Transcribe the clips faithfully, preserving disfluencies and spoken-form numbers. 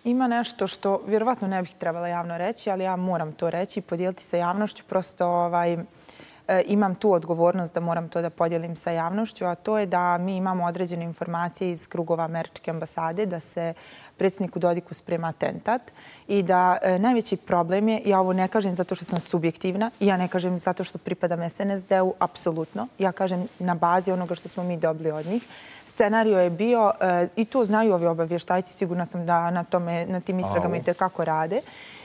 Ima nešto što vjerovatno ne bih trebala javno reći, ali ja moram to reći i podijeliti sa javnošću. Prosto ovaj, imam tu odgovornost da moram to da podijelim sa javnošću, a to je da mi imamo određene informacije iz krugova američke ambasade da se predsjedniku Dodiku sprema atentat i da najveći problem je, ja ovo ne kažem zato što sam subjektivna, ja ne kažem zato što pripadam S N S D-u, apsolutno. Ja kažem na bazi onoga što smo mi dobili od njih. Scenario je bio, i to znaju ovi obavještajci, sigurna sam da na, tome, na tim istragama i tekako rade,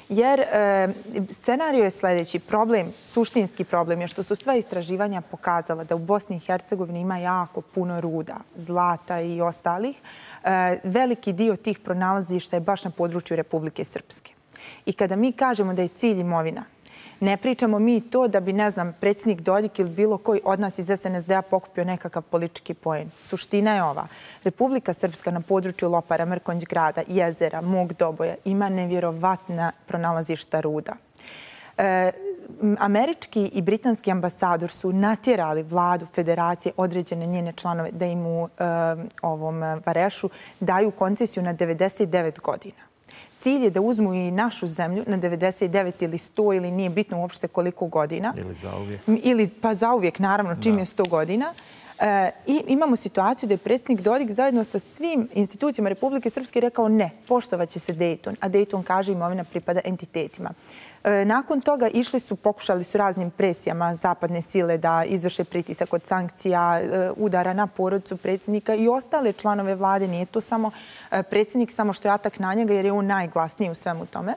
jer e, scenario je sljedeći. Problem, suštinski problem je što su sva istraživanja pokazala da u Bosni i Hercegovini ima jako puno ruda, zlata i ostalih. E, veliki dio tih pronalazišta je baš na području Republike Srpske. I kada mi kažemo da je cilj imovina, ne pričamo mi to da bi, ne znam, predsjednik Dodik ili bilo koji od nas iz S N S D-a pokupio nekakav politički poen. Suština je ova. Republika Srpska na području Lopara, Mrkonjić grada, jezera, Mog Doboja ima nevjerovatna pronalazišta ruda. E, američki i britanski ambasador su natjerali vladu federacije, određene njene članove, da im u e, ovom Varešu daju koncesiju na devedeset devet godina. Cilj je da uzmu i našu zemlju na devedeset devet ili sto ili nije bitno uopšte koliko godina. Ili zauvijek. Ili, pa zauvijek, naravno, čim da. je sto godina. E, I imamo situaciju da je predsjednik Dodik zajedno sa svim institucijama Republike Srpske rekao ne, poštovat će se Dayton, a Dayton kaže imovina pripada entitetima. E, nakon toga išli su, pokušali su raznim presijama zapadne sile da izvrše pritisak od sankcija, e, udara na porodicu predsjednika i ostale članove vlade. Nije to samo e, predsjednik, samo što je atak na njega jer je on najglasniji u svemu tome.